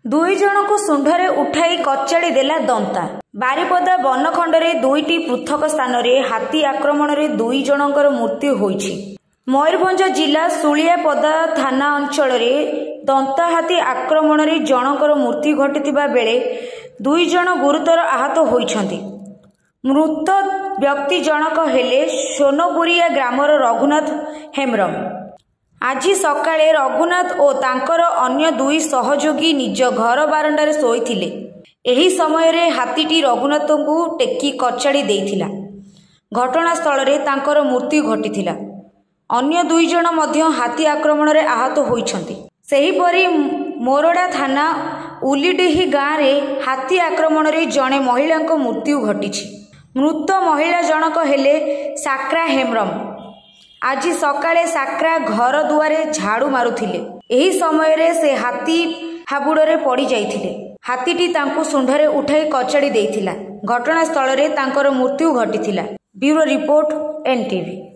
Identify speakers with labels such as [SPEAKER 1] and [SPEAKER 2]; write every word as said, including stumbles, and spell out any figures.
[SPEAKER 1] ଦୁଇ ଜଣଙ୍କୁ ଶୁଣ୍ଢରେ ଉଠାଇ କଚାଡ଼ି ଦେଲା ଦନ୍ତା। ବାରିପଦା ବନଖଣ୍ଡରେ ଦୁଇଟି ପୃଥକ ସ୍ଥାନରେ ହାତୀ ଆକ୍ରମଣରେ ଦୁଇ ଜଣଙ୍କର ମୃତ୍ୟୁ ହୋଇଛି। ମୟୂରଭଞ୍ଜ ଜିଲ୍ଲା ଶୁଳିଆପଦା ଥାନା ଅଞ୍ଚଳରେ ଦନ୍ତା ହାତୀ ଆକ୍ରମଣରେ ଜଣଙ୍କର ମୃତ୍ୟୁ ଘଟିଥିବା ବେଳେ ଦୁଇ ଜଣ ଗୁରୁତର ଆହତ ହୋଇଛନ୍ତି। ମୃତ ବ୍ୟକ୍ତି ଜଣକ ହେଲେ ସୋନପୁରିଆ ଗ୍ରାମର ରଘୁନାଥ ହେମ୍ବ୍ରମ। ଆଜି ସକାଳେ ରଘୁନାଥ ଓ ତାଙ୍କର ଅନ୍ୟ ଦୁଇ ସହଯୋଗୀ ନିଜ ଘର ବାରଣ୍ଡାରେ ଶୋଇଥିଲେ। ଏହି ସମୟରେ ହାତୀଟି ରଘୁନାଥଙ୍କୁ ଟେକି କଚାଡ଼ି ଦେଇଥିଲା। ଘଟଣାସ୍ଥଳରେ ତାଙ୍କର ମୃତ୍ୟୁ ଘଟିଥିଲା। ଅନ୍ୟ ଦୁଇ ଜଣ ମଧ୍ୟ ହାତୀ ଆକ୍ରମଣରେ ଆହତ ହୋଇଛନ୍ତି। ସେହିପରି ମୋରଡ଼ା ଥାନା ଉଲିଡିହି ଗାଁରେ ହାତୀ ଆକ୍ରମଣରେ ଜଣେ ମହିଳାଙ୍କ ମୃତ୍ୟୁ ଘଟିଛି। ମୃତ ମହିଳା ଜଣକ ହେଲେ ସାକ୍ରା ହେମ୍ବ୍ରମ। ଆଜି ସକାଳେ ସାକ୍ରା ଘର ଦୁଆରେ ଝାଡୁ ମାରୁଥିଲେ। ଏହି ସମୟରେ ସେ ହାତୀ ହାବୁଡ଼ରେ ପଡ଼ି ଯାଇଥିଲେ। ହାତୀଟି ତାଙ୍କୁ ଶୁଣ୍ଢରେ ଉଠାଇ କଚାଡ଼ି ଦେଇଥିଲା। ଘଟଣାସ୍ଥଳରେ ତାଙ୍କର ମୃତ୍ୟୁ ଘଟିଥିଲା। Bureau report, NTV.